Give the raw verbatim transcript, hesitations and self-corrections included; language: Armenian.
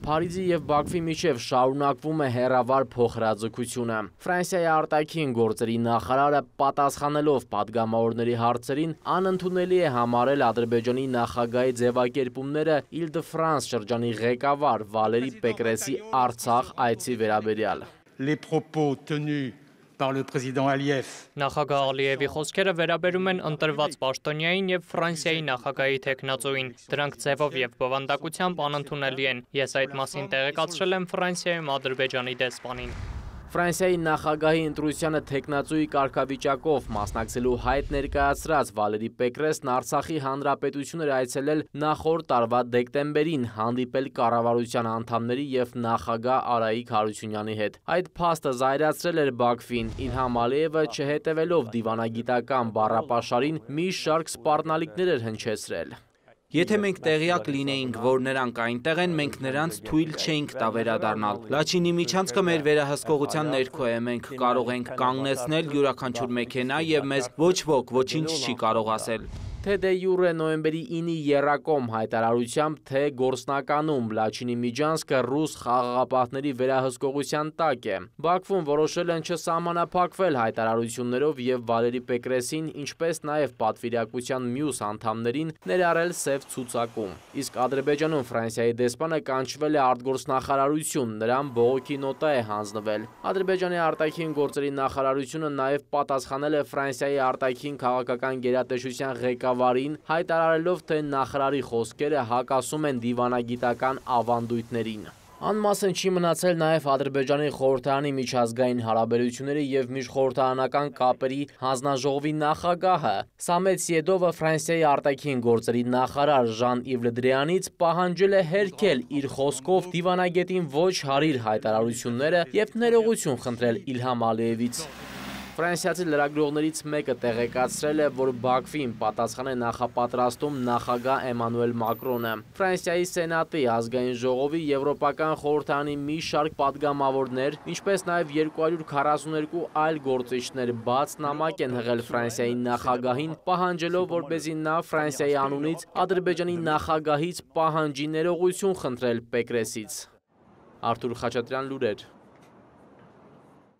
Փարիզի և Բաքվի միջև շարունակվում է հեռավար փոխհրաձգությունը։ Ֆրանսիայի արտաքին գործերի նախարարը պատասխանելով պատգամավորների հարցերին անընդունելի է համարել Ադրբեջանի նախագահի ձևակերպումները Իլ-դը-Ֆրանս շրջանի ղեկավար Վալերի Պեկրեսի Արցախ այցի վերաբերյալ։ Les propos tenus par le président Aliyev. Նախագահ Ալիևի խոսքերը վերաբերում են ընտրված պաշտոնյային և Ֆրանսիայի նախագահի թեկնածուին։ Դրանք ձևով և բովանդակությամբ անընդունելի են։ Ես այդ մասին տեղեկացրել եմ Ֆրանսիայում Ադրբեջանի դեսպանին։ Ֆրանսիայի նախագահի ընտրությանը թեկնածուի կարգավիճակով մասնակցելու հայտ ներկայացրած Վալերի Պեկրեսն Արցախի հանրապետություն էր այցելել նախորդ տարվա դեկտեմբերին, հանդիպել կառավարության անդամների և նախագահ Արայիկ Հարությունյանի հետ։ Այդ փաստը զայրացրել էր Բաքվին։ Իլհամ Ալիևը, չհետևելով դիվանագիտական բառապաշարին, մի շարք սպառնալիքներ էր հնչեցրել։ Եթե մենք տեղյակ լինեինք, որ նրանք այնտեղ են, մենք նրանց թույլ չէինք տա վերադառնալ։ Լաչինի միջանցքը մեր վերահսկողության ներքո է, մենք կարող ենք կանգնեցնել յուրաքանչյուր մեքենա և մեզ ոչ ոք ոչինչ չի կարող ասել։ Թե դե յուրե նոյեմբերի ինի եռակոմ հայտարարությամբ, թե գործնականում Լաչինի միջանցքը ռուս խաղաղապահների վերահսկողության տակ է։ Բաքվում որոշել են չսահմանափակվել հայտարարություններով և Վալերի Պեկրեսին, ինչպես նաև պատվիրակության մյուս անդամներին ներառել սև ցուցակում։ Իսկ Ադրբեջանում Ֆրանսիայի դեսպանը կանչվել է արտգործնախարարություն, նրան բողոքի նոտա է հանձնվել։ Ադրբեջանի արտաքին գործերի նախարարությունը նաև պատասխանել է Ֆրանսիայի արտաքին քաղաքական գերատեսչության ղեկավարին, հայտարարելով, թե նախարարի խոսքերը հակասում են դիվանագիտական ավանդույթներին։ Անմասն չի մնացել նաև Ադրբեջանի խորհրդարանի միջազգային հարաբերությունների և միջխորհրդարանական կապերի հանձնաժողովի նախագահը։ Սամետ Սիեդովը Ֆրանսիայի արտաքին գործերի նախարար Ժան-Իվ Լը Դրիանից պահանջել է հերքել իր խոսքով դիվանագետին ոչ հարիր հայտարարությունները և ներողություն խնդրել Իլհամ Ալիևից։ Ֆրանսիացի լրագրողներից մեկը տեղեկացրել է, որ Բաքվին պատասխան է նախապատրաստում նախագահ Էմանուել Մակրոնը։ Ֆրանսիայի Սենատի ազգային ժողովի Եվրոպական խորհրդարանի մի շարք պատգամավորներ, ինչպես նաև երկու հարյուր քառասունութ երկու այլ գործիչներ բաց նամակ են հղել Ֆրանսիայի նախագահին, պահանջելով, որպեսզի նա Ֆրանսիայի անունից Ադրբեջանի նախագահից պահանջի ներողություն խնդրել Պեկրեսից։ Արթուր Խաչատրյան, լուրեր։